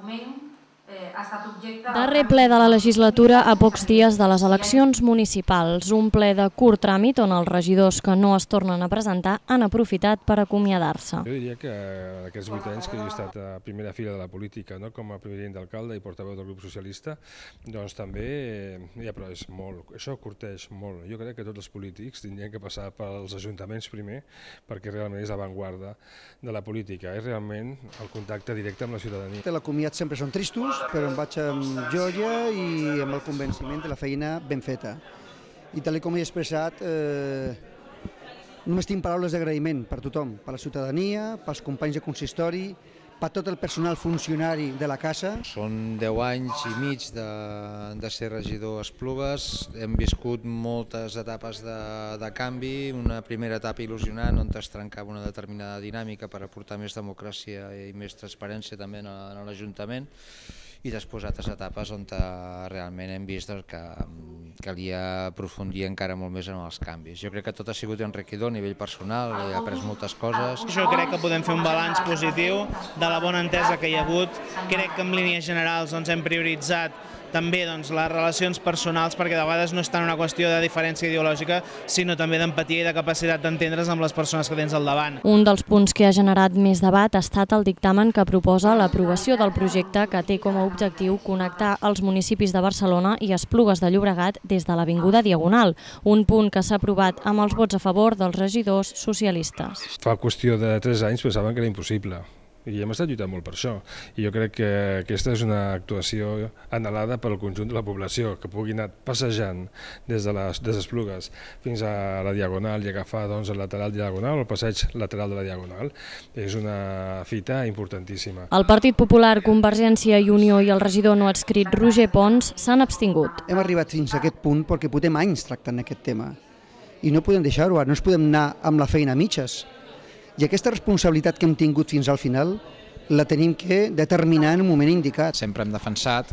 moment ha estat objecte... Darrer ple de la legislatura a pocs dies de les eleccions municipals. Un ple de curt tràmit on els regidors que no es tornen a presentar han aprofitat per acomiadar-se. Jo diria que aquests 8 anys que jo he estat a primera fila de la política, com a president d'alcalde i portaveu del grup socialista, doncs també, però és molt, això curteix molt. Jo crec que tots els polítics tindrien que passar pels ajuntaments primer, perquè realment és l'avantguarda de la política, és realment el contacte directe amb la ciutadania. La comiat sempre són tristos, però em vaig amb joia i amb el convenciment de la feina ben feta. I tal com he expressat, només tinc paraules d'agraïment per tothom, per la ciutadania, pels companys de consistori, per tot el personal funcionari de la casa. Són 10 anys i mig de ser regidor a Esplugues, hem viscut moltes etapes de canvi, una primera etapa il·lusionant on es trencava una determinada dinàmica per aportar més democràcia i més transparència també en l'Ajuntament, i després altres etapes on realment hem vist que calia aprofundir encara molt més en els canvis. Jo crec que tot ha sigut enriquidor a nivell personal, he après moltes coses. Jo crec que podem fer un balanç positiu de la bona entesa que hi ha hagut. Crec que en línies generals hem prioritzat també les relacions personals, perquè de vegades no és tant una qüestió de diferència ideològica, sinó també d'empatia i de capacitat d'entendre's amb les persones que tens al davant. Un dels punts que ha generat més debat ha estat el dictamen que proposa l'aprovació del projecte que té com a objectiu connectar els municipis de Barcelona i Esplugues de Llobregat des de l'Avinguda Diagonal, un punt que s'ha aprovat amb els vots a favor dels regidors socialistes. Fa qüestió de 3 anys pensaven que era impossible. I hem estat lluitant molt per això. I jo crec que aquesta és una actuació anhelada pel conjunt de la població, que pugui anar passejant des de les Esplugues fins a la Diagonal i agafar el lateral diagonal o el passeig lateral de la Diagonal. És una fita importantíssima. El Partit Popular, Convergència i Unió i el regidor no adscrit Roger Pons s'han abstingut. Hem arribat fins a aquest punt perquè portem anys tractant aquest tema i no podem deixar-ho, no ens podem anar amb la feina a mitges. I aquesta responsabilitat que hem tingut fins al final la tenim que determinar en un moment indicat. Sempre hem defensat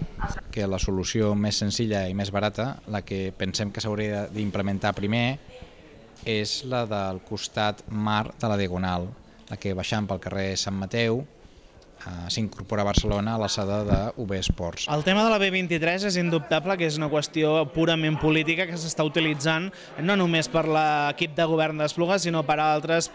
que la solució més senzilla i més barata, la que pensem que s'hauria d'implementar primer, és la del costat mar de la Diagonal, la que baixant pel carrer Sant Mateu s'incorpora a Barcelona a l'alçada d'UB Esports. El tema de la B23 és indubtable que és una qüestió purament política que s'està utilitzant no només per l'equip de govern d'Esplugues, sinó per altres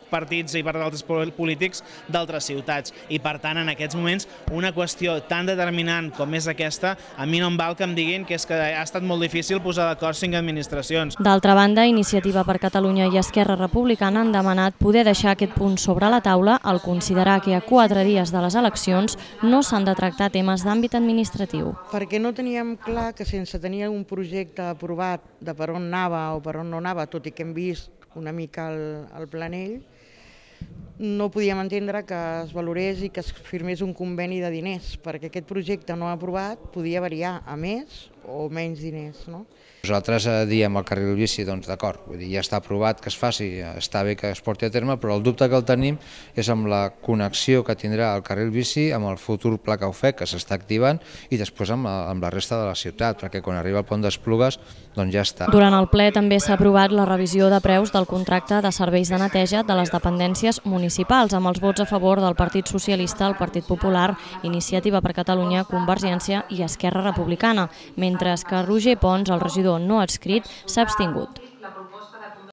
partits i per altres polítics d'altres ciutats. I per tant, en aquests moments, una qüestió tan determinant com és aquesta, a mi no em val que em diguin que és que ha estat molt difícil posar d'acord 5 administracions. D'altra banda, Iniciativa per Catalunya i Esquerra Republicana han demanat poder deixar aquest punt sobre la taula al considerar que a 4 dies de les eleccions no s'han de tractar temes d'àmbit administratiu. Perquè no teníem clar que sense tenir un projecte aprovat de per on anava o per on no anava, tot i que hem vist una mica el planell, no podíem entendre que es valorés i que es firmés un conveni de diners, perquè aquest projecte no aprovat podia variar a més o menys diners. Nosaltres diem al carril bici, doncs d'acord, ja està aprovat que es faci, està bé que es porti a terme, però el dubte que el tenim és amb la connexió que tindrà el carril bici amb el futur pla Caufec que s'està activant i després amb la resta de la ciutat, perquè quan arriba al pont d'Esplugues doncs ja està. Durant el ple també s'ha aprovat la revisió de preus del contracte de serveis de neteja de les dependències municipals, amb els vots a favor del Partit Socialista, el Partit Popular, Iniciativa per Catalunya, Convergència i Esquerra Republicana, mentre que Roger Pons, el regidor no adscrit, s'ha abstingut.